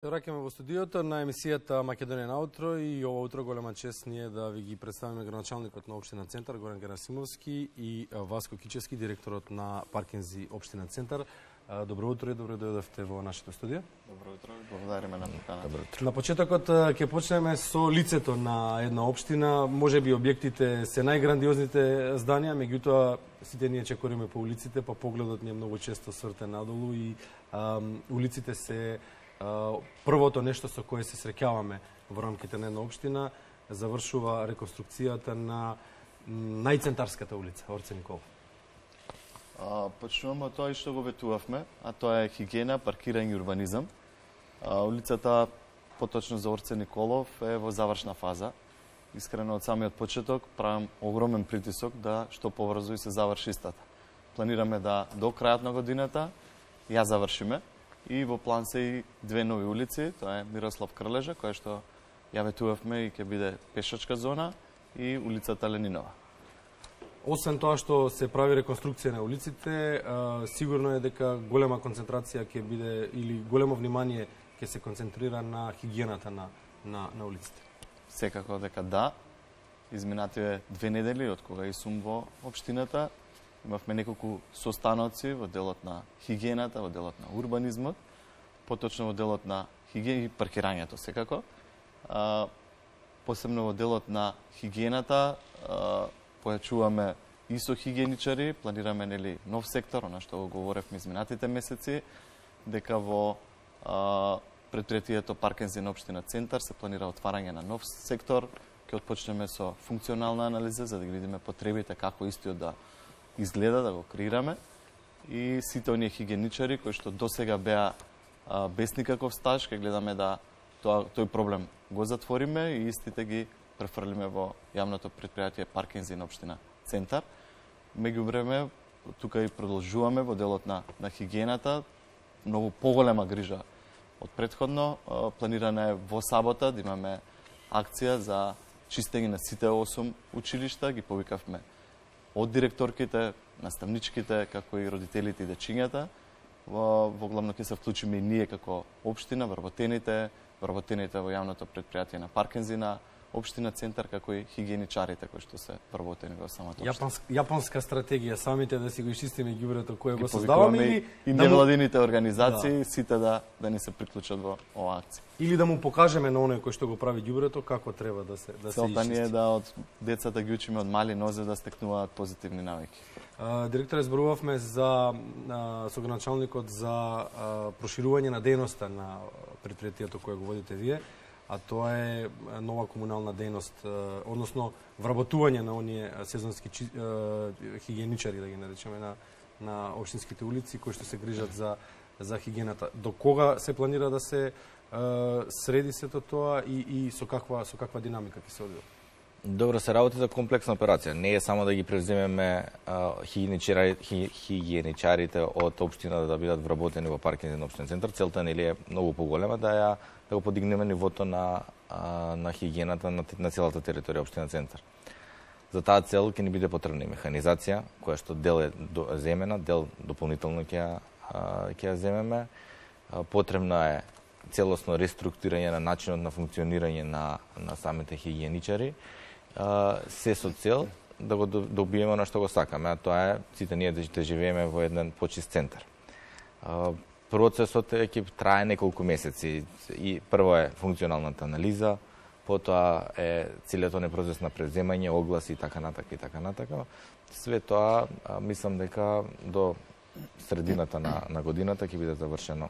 Враќаме во студиото на емисијата Македонија на утро и ова утро голема чест ни е да ви ги представиме градоначалникот на општина Центар Горан Герасимовски и Васко Кичевски, директорот на Паркинзи општина Центар. Добро утро и добро дојдовте во нашето студио. Добро утро, благодариме на поканата. Добро утро. На почетокот ќе почнеме со лицето на една општина. Можеби објектите се најграндиозните зданија, меѓутоа сите ние чекориме по улиците, па погледот ни е многу често свртен надолу и улиците се првото нешто со кое се среќаваме во рамките на една општина. Завршува реконструкцијата на најцентарската улица, Орце Николов. Почнуваме од тоа и што го ветувавме, а тоа е хигиена, паркирање и урбанизам. Улицата, поточно за Орце Николов, е во завршна фаза. Искрено од самиот почеток правам огромен притисок да што побрзо и се заврши истата. Планираме да до крајот на годината ја завршиме. И во план се и две нови улици, тоа е Мирослав Крлежа, која што ја ветувавме и ќе биде пешачка зона, и улицата Ленинова. Освен тоа што се прави реконструкција на улиците, сигурно е дека голема концентрација ќе биде или големо внимание ќе се концентрира на хигиената на улиците. Секако дека да. Изминативе 2 недели од кога и сум во општината, имавме неколку состаноци во делот на хигиената, во делот на урбанизмот, поточно во делот на хигиена и паркирањето секако. Посебно во делот на хигиената појачуваме и со хигиеничари, планираме нов сектор, она што го говоревме изминатите месеци, дека во предпријатието Паркинзи на општина Центар се планира отварање на нов сектор. Ќе отпочнеме со функционална анализа за да ги видиме потребите како истиот да изгледа, да го креираме, и сите оние хигиеничари кои што досега беа без никаков стаж, ќе гледаме да тој проблем го затвориме и истите ги префрлиме во јавното предпријатие Паркинзи на општина Центар. Меѓувреме, тука и продолжуваме во делот на хигиената, многу поголема грижа од претходно. Планирана е во сабота да имаме акција за чистење на сите 8 училишта, ги повикавме од директорките, наставничките, како и родителите и дечињата. Во главно ќе се вклучиме и ние како општина, вработените во јавното предпријатие на Паркинзи на општина Центар, како и хигиеничарите кои што се вработени во самата општина. Јапонска стратегија, самите да си го изчистиме ѓубрето кое го создаваме и невладините организации, сите да ни се приклучат во оваа акција. Или да му покажеме на оној кој што го прави ѓубрето како треба да се изчисти. Целта ни е да од децата ги учиме од мали нозе да стекнуваат позитивни навики. Директоре, зборувавме за со градоначалникот за проширување на дејноста на предпријатието кое го водите вие, а тоа е нова комунална дејност, односно вработување на оние сезонски хигиеничари, да ги наречеме, на општинските улици кои што се грижат за хигиената. До кога се планира да се среди сето тоа и со каква динамика ќе се одвива? Добро, се работи за комплексна операција. Не е само да ги превземеме хигиеничарите од општина да бидат вработени во Паркинзи на општина Центар. Целта нели е многу поголема да го подигнеме нивото на хигиената на целата територија општина Центар. За таа цел ќе ни биде потребна механизација, која што дел е земена, дел дополнително ќе ја земеме. Потребна е целосно реструктурирање на начинот на функционирање на самите хигиеничари, се со цел да го добиеме на што го сакаме, а тоа е сите ние да живееме во еден почист центар. Процесот ќе трае неколку месеци и прво е функционалната анализа, потоа е целиот оној процес на преземање, огласи и така натака. Све тоа мислам дека до средината на годината ќе биде завршено.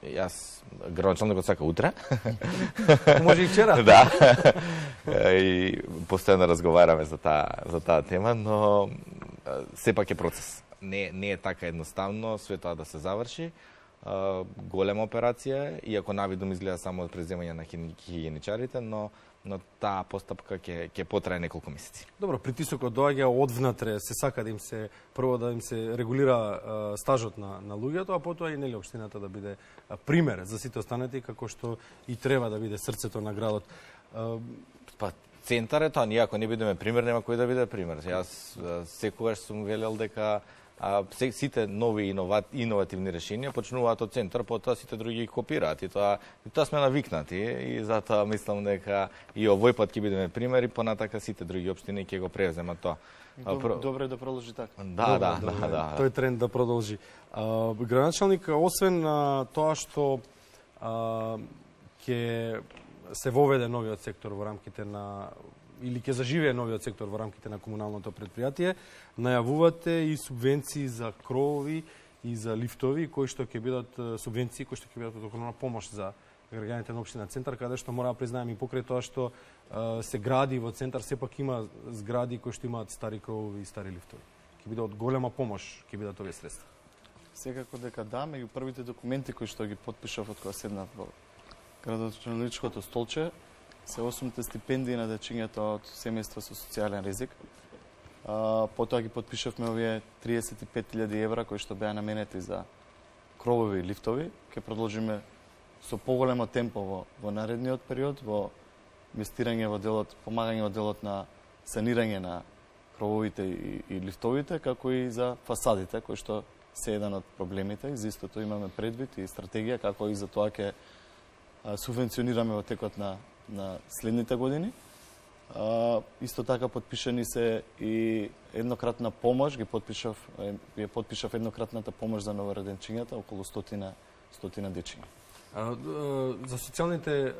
Јас, градоначалникот сака утре. Може и вчера. Да. И постојано разговараме за таа тема, но сепак е процес. Не е така едноставно све тоа да се заврши. Голема операција, иако навидом изгледа само од преземање на хигиеничарите, но таа постапка ќе потрае неколку месеци. Добро, притисокот доаѓа од внатре, се сака да им се прво да им се регулира стажот на луѓето, а потоа и нели општината да биде пример за сите останати, како што и треба да биде срцето на градот. Па Центар е тоа, ние ако не бидеме пример, нема кој да биде пример. Јас секогаш сум велел дека сите нови иновативни решенија почнуваат од центар, потоа сите други ги копираат и тоа сме навикнати и затоа мислам дека и овој пат ќе бидеме примери, понатака сите други општини ќе го превземат тоа. Добре да продолжи така. Да. Тој тренд да продолжи. Градоначалник, освен тоа што ќе се воведе новиот сектор во рамките на или ќе заживее новиот сектор во рамките на комуналното предпријатие, најавувате и субвенции за кровови и за лифтови, кои што ќе бидат субвенции кои што ќе бидат од огромна помош за граѓаните на општина Центар, каде што мора да признаем и покрај тоа што се гради во Центар, сепак има згради кои што имаат стари кровови и стари лифтови. Ќе биде од голема помош, ќе бидат овие средства. Секако дека да, меѓу првите документи кои што ги потпишав од кога седнав во градоначалничкото столче, се 8 стипендии на дечињата од семејства со социјален ризик. Потоа ги потпишавме овие 35.000 евра кои што беа наменети за кровови и лифтови. Ке продолжиме со поголемо темпо во наредниот период, во инвестирање во делот, помагање во делот на санирање на крововите и лифтовите, како и за фасадите, кои што се еден од проблемите. За истото имаме предвид и стратегија како и за тоа ќе субвенционираме во текот на следните години. Исто така потпишани се и еднократна помош, ја потпишав еднократната помош за новороденчињата, околу 100 дечиња. За социјалните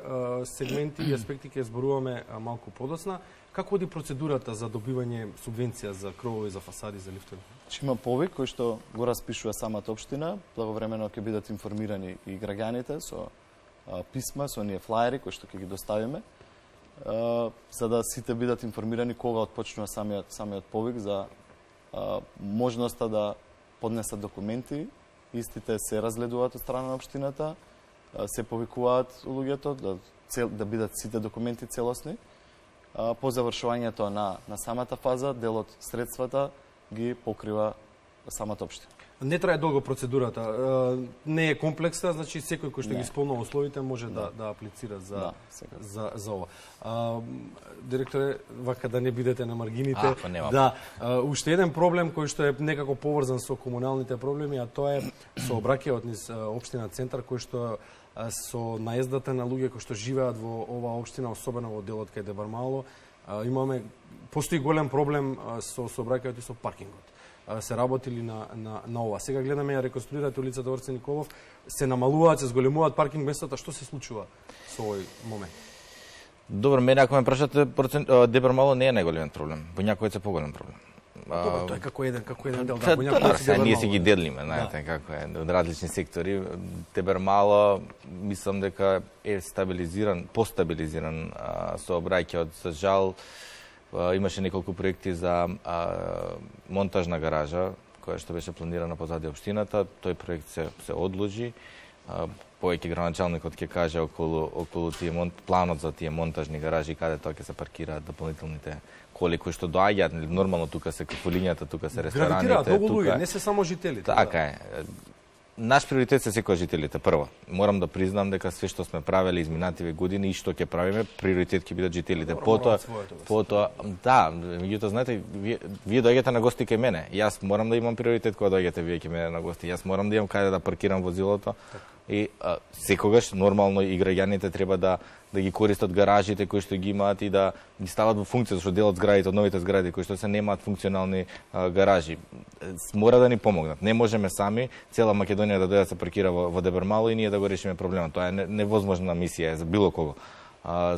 сегменти и аспекти ќе зборуваме малку подоцна. Како оди процедурата за добивање субвенција за кровови, за фасади, за лифтови? Има повик кој што го распишува самата општина, благовремено ќе бидат информирани и граѓаните со писма, со оние флаери кои што ќе ги доставиме, за да сите бидат информирани кога отпочнува самиот повик за можноста да поднесат документи. Истите се разгледуваат од страна на општината, се повикуваат луѓето да бидат сите документи целосни. По завршувањето на самата фаза, делот средствата ги покрива самата општина. Не трае долго процедурата, не е комплексна, значи секој кој што ги исполнува условите може да аплицира за ова. Директоре, вака да не бидете на маргините, уште еден проблем кој што е некако поврзан со комуналните проблеми, а тоа е сообраќајот низ општина Центар, кој што со наездата на луѓе кои што живеат во оваа општина, особено во делот кај Дебармало, постои голем проблем со сообраќајот и со паркингот. Се работили на ова. Сега гледаме ја реконструирате улицата Орце Николов, се намалуваат, се зголемуваат паркинг местата. Што се случува со овој момент? Добро, мене ако ме прашате, Дебармало не е најголемиот проблем. Во някој е поголем проблем. Добро, тоа е како еден дел. Ние се ги делиме, знаете како е, од различни сектори. Дебармало, мислам дека е постабилизиран сообраќајот. За жал, имаше неколку проекти за монтажна гаража, која што беше планирана позади општината. Тој проект се одложи. Повеќе градоначалникот ќе каже околу тие планот за тие монтажни гаражи, каде тоа ќе се паркираат дополнителните коли кои што доаѓаат. Нормално тука се кафулињата, тука се рестораните. Гравитираат многу луѓе, не се само жителите. Така е. Наш приоритет се секој жителите. Прво, морам да признам дека све што сме правеле изминативе години и што ќе правиме, приоритет ќе бидат жителите. Потоа, меѓутоа, знаете, вие доаѓате на гости кај мене. Јас морам да имам приоритет кога доаѓате вие кај мене на гости. Јас морам да имам каде да паркирам возилото. И секогаш нормално и граѓаните треба да ги користат гаражите кои што ги имаат и да ги стават во функција, зашто дел од зградите, од новите згради кои што се немаат функционални гаражи, мора да ни помогнат. Не можеме сами цела Македонија да дојде да се паркира во Дебармало и ние да го решиме проблемот. Тоа е невозможна мисија за било кого.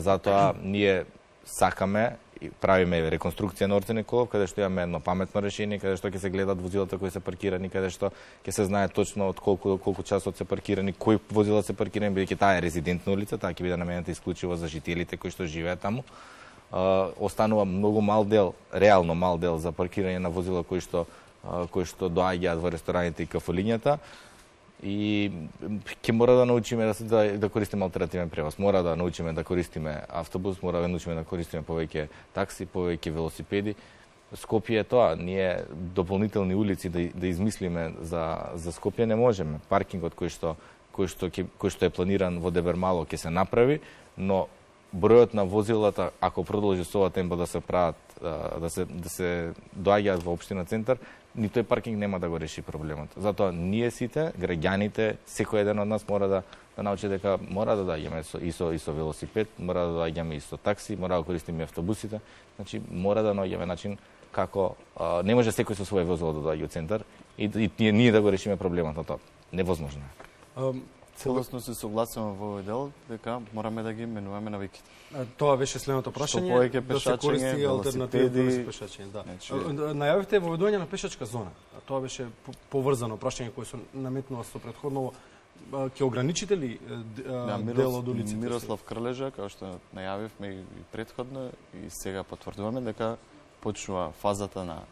Затоа ние сакаме и правиме реконструкција на Орце Николов, каде што имаме едно паметно решение, каде што ќе се гледат возилата кои се паркирани, каде што ќе се знае точно од колку часот се паркирани, кои возила се паркирани, бидејќи таа е резидентна улица, таа ќе биде наменета исклучиво за жителите кои што живеат таму. Останува многу мал дел, реално мал дел за паркирање на возила кои што доаѓаат во рестораните и кафулињата. И ќе мора да научиме да користиме алтернативен превоз. Мора да научиме да користиме автобус, мора да научиме да користиме повеќе такси, повеќе велосипеди. Скопје е тоа. Ние дополнителни улици да измислиме за Скопје не можеме. Паркингот кој што е планиран во Дебармало ќе се направи, но бројот на возилата, ако продолжи со ова темпо да се прават, да се доаѓаат во општина Центар, ни тој паркинг нема да го реши проблемот. Затоа ние сите, граѓаните, секој еден од нас мора да научи дека мора да доаѓаме со велосипед, мора да доаѓаме и со такси, мора да користиме автобусите. Значи мора да наоѓаме начин како не може секој со свој возило да доаѓа во центар и ние да го решиме проблемот на тоа. Невозможно е. Целосно се согласувам во овој дел дека мораме да ги менуваме навиките. Тоа беше следното прашање, да се користи алтернативно пешачење, да. Најавивте воведување на пешачка зона. Тоа беше поврзано прашање кое се наметнува со претходно. Ќе ограничите ли дел од улиците? Мирослав Крлежа, како што најавивме и претходно и сега потврдуваме дека почнува фазата на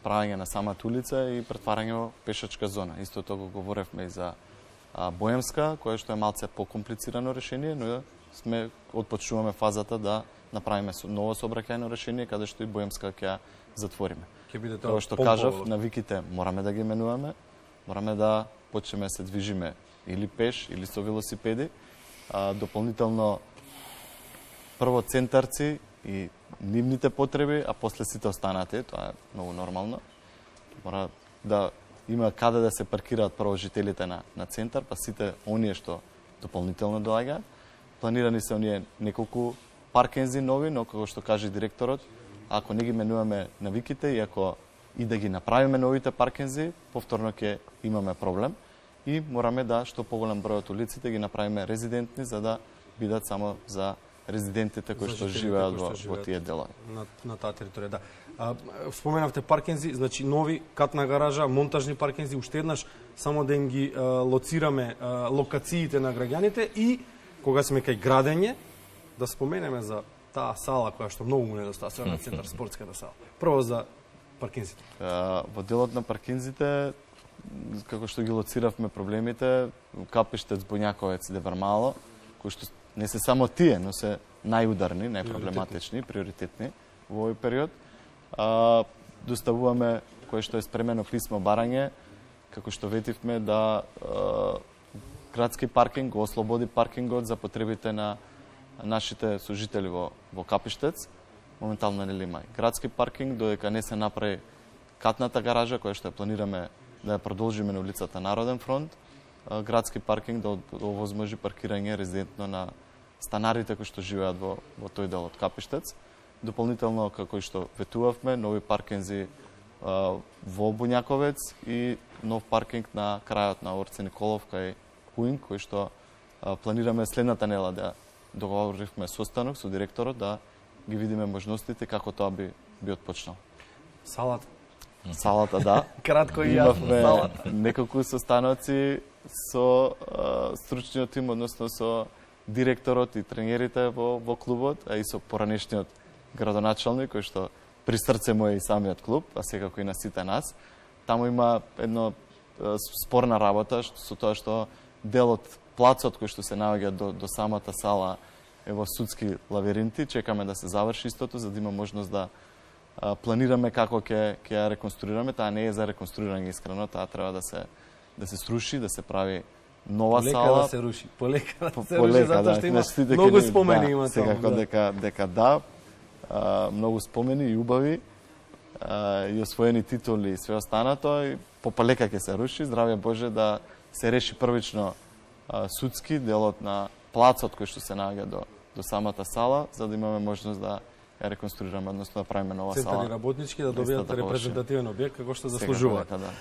правење на самата улица и претварање во пешачка зона. Истото го говоревме и за Боемска, кое што е малце покомплицирано решение, но сме отпочнуваме фазата да направиме ново сообраќајно решение каде што и Боемска ќе ја затвориме. Како што кажав, навиките мораме да ги менуваме, мораме да почнеме се движиме или пеш или со велосипеди, дополнително прво центарци и нивните потреби, а после сите останати, тоа е многу нормално. Мора да има каде да се паркираат прво жителите на центар, па сите оние што дополнително доаѓаат. Планирани се оние неколку паркинзи нови, но како што каже директорот, ако не ги менуваме навиките и ако и да ги направиме новите паркинзи, повторно ќе имаме проблем и мораме да што поголем број од улиците ги направиме резидентни за да бидат само за резидентите кои што живеат во тие делови. На таа територија, да. Споменавте паркинзи, значи нови катна гаража, монтажни паркинзи, уште еднаш само да им ги лоцираме локациите на граѓаните и кога сме кај градење, да споменеме за таа сала која што многу му недостасува на центар, спортската сала. Прво за паркинзите. Во делот на паркинзите, како што ги лоциравме проблемите, Капиштец, Боњаковец и Девармало, кои што не се само тие, но се најударни, најпроблематични, приоритетни во овој период. Доставуваме кое што е спремено писмо барање, како што ветивме да градски паркинг го ослободи паркингот за потребите на нашите сожители во Капиштец. Моментално нели има градски паркинг, додека не се направи катната гаража, која што ја планираме да ја продолжиме на улицата Народен фронт, градски паркинг да овозможи паркирање резидентно на станарите кои што живеат во тој дел од Капиштец. Дополнително, како и што ветувавме, нови паркинзи во Боњаковец и нов паркинг на крајот на Орце Николов кај Пуинг, кој што планираме следната недела да договоривме состанок со директорот да ги видиме можностите како тоа би отпочнал. Салата. Салата, да. Кратко и јасно, салата. Неколку состаноци со стручниот тим, односно со директорот и тренерите во клубот, а и со поранешниот градоначалник, кој што при срце му е и самиот клуб, а секако и на сите нас. Таму има едно спорна работа со тоа што дел од плацот кој што се наоѓа до самата сала е во судски лавиринти. Чекаме да се заврши истото, за да има можност да планираме како ќе ја реконструираме. Таа не е за реконструирање искрено, таа треба да се сруши, да се прави нова сала. Полека да се руши, полека да се руши, затоа што има многу спомени има таму. Секако дека да, многу спомени и убави, и освоени титули и све останато, и полека ќе се руши. Здравје Боже да се реши првично судски делот на плацот кој што се наоѓа до самата сала, за да имаме можност да ја реконструираме, односно да правиме нова сала. Центарни работнички да добијат репрезентативен објект како што заслужуваат. Да.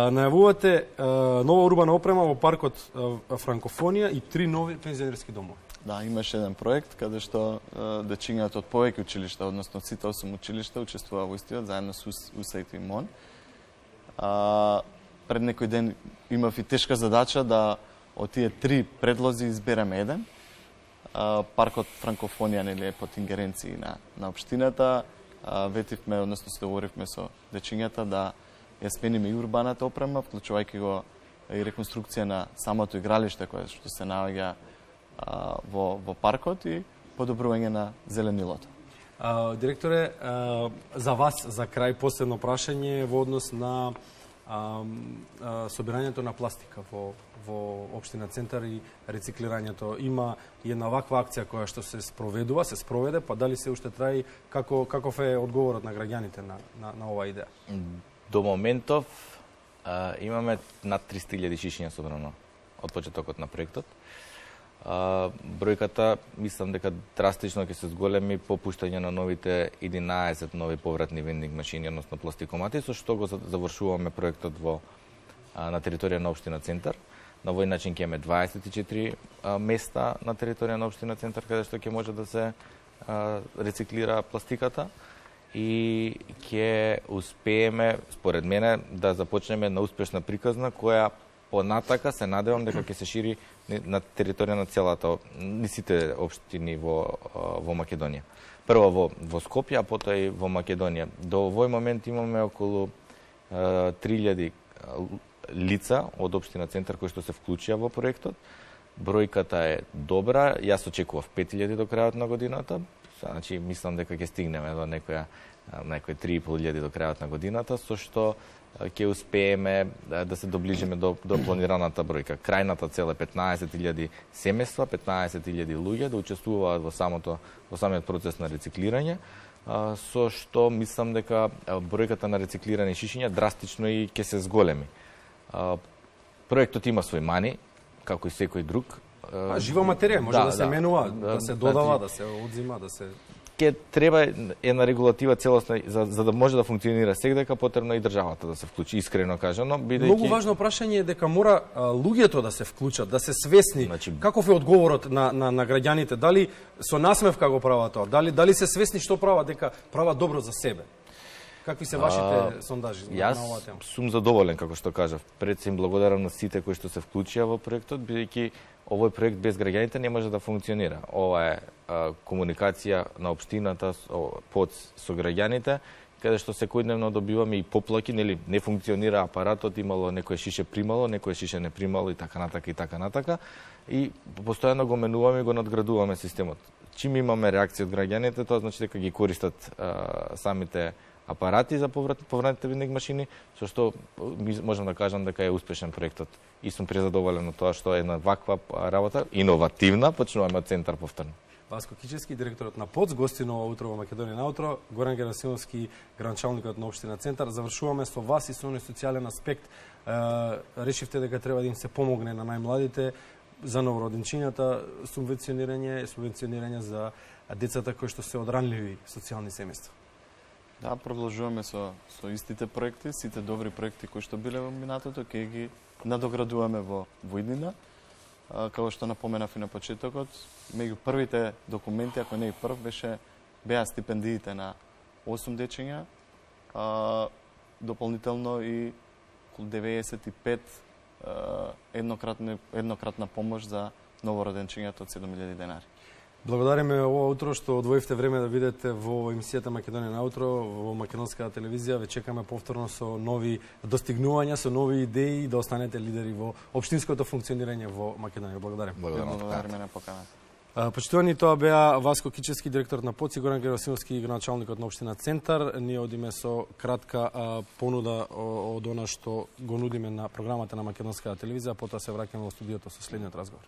Најавувате нова урбана опрема во паркот Франкофонија и 3 нови пензионерски домови. Да, имаше еден проект каде што дечињата од повеќе училишта, односно сите 8 училишта учествуваа во истиот заедно со УСАИД и МОН. Пред некој ден имав и тешка задача да од тие 3 предлози избереме еден. Паркот Франкофонија нели е под ингеренции на општината. Ветивме, односно се договоривме со дечињата да ја смениме и урбаната опрема, вклучувајќи го и реконструкција на самото игралиште кое што се наоѓа во паркот и подобрување на зеленилото. Директоре, за вас за крај последно прашање во однос на собирањето на пластика во општина Центар и рециклирањето. Има една ваква акција која што се спроведе, па дали се уште траи, каков е одговорот на граѓаните на оваа идеја? До моментов имаме над 300.000 шишиња собрано од почетокот на проектот. Бројката, мислам дека драстично ќе се зголеми по пуштање на новите 11 нови повратни вендинг машини, односно пластикомати, со што го завршуваме проектот на територија на општина Центар. На овој начин ќе имаме 24 места на територија на општина Центар каде што ќе може да се рециклира пластиката и ќе успееме, според мене, да започнеме на успешна приказна која понатака се надевам дека ќе се шири на територија на целата, сите општини во Македонија. Прво во Скопје, а потоа и во Македонија. До овој момент имаме околу 3000 лица од општина Центар кои што се вклучија во проектот. Бројката е добра, јас очекував 5000 до крајот на годината, значи мислам дека ќе стигнеме до некои 3500 до крајот на годината, со што ќе успееме да се доближиме до планираната бројка. Крајната цел е 15.000 семејства, 15.000 луѓе да учествуваат во самиот процес на рециклирање, со што мислам дека бројката на рециклирани шишиња драстично и ќе се зголеми. Проектот има свој мани, како и секој друг. Жива материја може да се менува, да се додава, да се одзима, да се... Ке треба една регулатива целосна за да може да функционира секдека, потребно и државата да се вклучи, искрено кажано, бидејќи Многу важно прашање е дека мора луѓето да се вклучат, да се свесни. Значи, каков е одговорот на граѓаните? Дали со насмевка го прават тоа? Дали се свесни што прават, дека прават добро за себе? Какви се вашите сондажи на оваа тема? Јас сум задоволен, како што кажав. Пред се им благодарам на сите кои што се вклучија во проектот, бидејќи овој проект без граѓаните не може да функционира. Ова е комуникација на општината со граѓаните, каде што секојдневно добиваме и поплаки, нели не функционира апаратот, имало некој шише примало, некој шише не примало и така натака. И постојано го менуваме и го надградуваме системот. Чим имаме реакција од граѓаните, тоа значи дека ги користат самите апарати за повратните вендинг машини, со што можам да кажам дека е успешен проектот. И сум презадоволен од тоа што е една ваква работа, иновативна, почнуваме од Центар повторно. Васко Кичевски, директорот на ПОЦ, гости на ова утро во Македонија наутро, Горан Герасимовски, градоначалникот на општина Центар. Завршуваме со вас и со оној социјален аспект. Решивте дека треба да им се помогне на најмладите за новороденчињата, субвенционирање за децата кои што се од ранливи социјални семејства. Да, продолжуваме со истите проекти, сите добри проекти кои што биле во минатото, ќе ги надоградуваме во иднина. Како што напоменав и на почетокот, меѓу првите документи, ако не и прв, беа стипендиите на 8 дечиња, дополнително и 95 еднократна помош за новороденчињата од 7.000 денари. Благодариме ова утро што одвоивте време да видите во емисијата Македонија наутро во македонската телевизија. Ве чекаме повторно со нови достигнувања, со нови идеи, да останете лидери во општинското функционирање во Македонија. Благодарим. Благодариме на поканата. Почитувани, тоа беа Васко Кичевски, директор на ПОЦ, и Горан Герасимовски, градоначалникот на општина Центар. Ние одиме со кратка понуда од она што го нудиме на програмата на македонската телевизија, потоа се враќаме во студиото со следниот разговор.